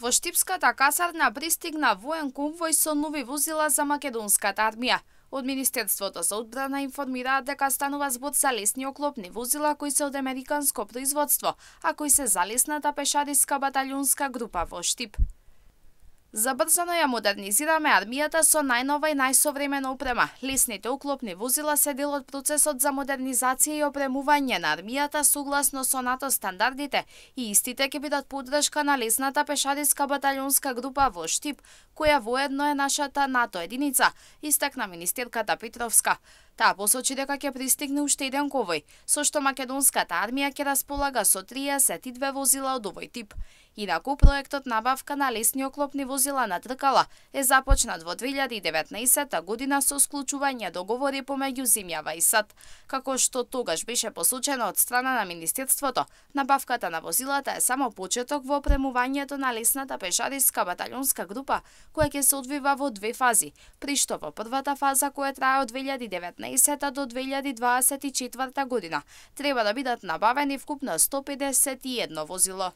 Во Штипската касарна пристигна воен конвој со нови возила за македонската армија. Од Министерството за одбрана информираат дека станува збор за лесни оклопни возила кои се од американско производство, а кои се за лесната пешадиска баталјонска група во Штип. Забрзано ја модернизираме армијата со најнова и најсовремена опрема. Лесните оклопни возила се дел од процесот за модернизација и опремување на армијата согласно со НАТО стандардите и истите ќе бидат поддршка на лесната пешадиска баталјонска група во Штип, која воедно е нашата НАТО единица, истакна министерката Петровска. Таа посочи дека ќе пристигне уште еден конвој, со што македонската армија ќе располага со 32 возила од овој тип. Инаку, проектот набавка на лесни оклопни возила на тркала е започнат во 2019 година со склучување договори помеѓу земјава и САД. Како што тогаш беше посочено од страна на Министерството, набавката на возилата е само почеток во опремувањето на лесната пешадиска баталјонска група, која ќе се одвива во две фази, при што во првата фаза, која трае од 2019 до 2024 година, треба да бидат набавени вкупно 151 возило.